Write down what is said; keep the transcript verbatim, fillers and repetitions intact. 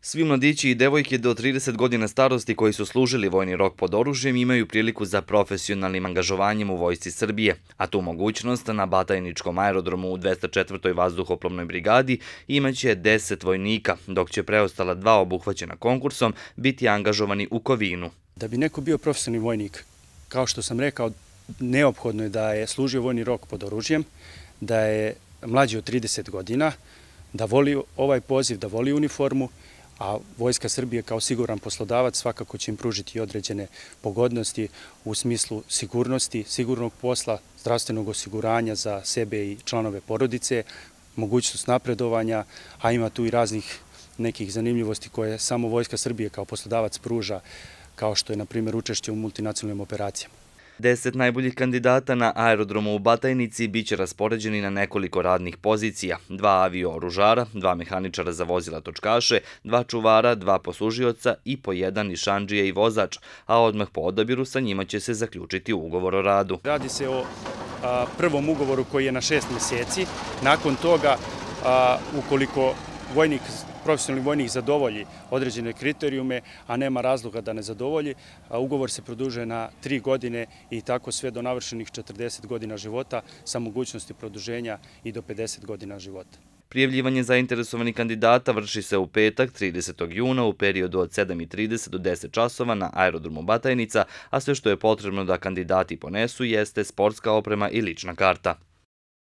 Svi mladići i devojke do trideset godina starosti koji su služili vojni rok pod oružjem imaju priliku za profesionalnim angažovanjem u Vojsci Srbije, a tu mogućnost na Batajničkom aerodromu u dvesta četvrtoj vazduhoplovnoj brigadi imaće deset vojnika, dok će preostala dva obuhvaćena konkursom biti angažovani u Kovinu. Da bi neko bio profesionalni vojnik, kao što sam rekao, neophodno je da je služio vojni rok pod oružjem, da je mlađi od trideset godina, da voli ovaj poziv, da voli uniformu, a Vojska Srbije kao siguran poslodavac svakako će im pružiti određene pogodnosti u smislu sigurnosti, sigurnog posla, zdravstvenog osiguranja za sebe i članove porodice, mogućnost napredovanja, a ima tu i raznih nekih zanimljivosti koje samo Vojska Srbije kao poslodavac pruža, kao što je, na primjer, učešće u multinacionalnim operacijama. Deset najboljih kandidata na aerodromu u Batajnici biće raspoređeni na nekoliko radnih pozicija, dva avio-oružara, dva mehaničara za vozila točkaše, dva čuvara, dva poslužioca i po jedan nišandžija i vozač, a odmah po odabiru sa njima će se zaključiti ugovor o radu. Radi se o a, prvom ugovoru koji je na šest mjeseci. Nakon toga, a, ukoliko vojnik, profesionalni vojnik zadovolji određene kriterijume, a nema razloga da ne zadovolji, ugovor se produžuje na tri godine i tako sve do navršenih četrdeset godina života sa mogućnosti produženja i do pedeset godina života. Prijavljivanje zainteresovanih kandidata vrši se u petak, tridesetog juna, u periodu od sedam i trideset do deset časova na aerodromu Batajnica, a sve što je potrebno da kandidati ponesu jeste sportska oprema i lična karta.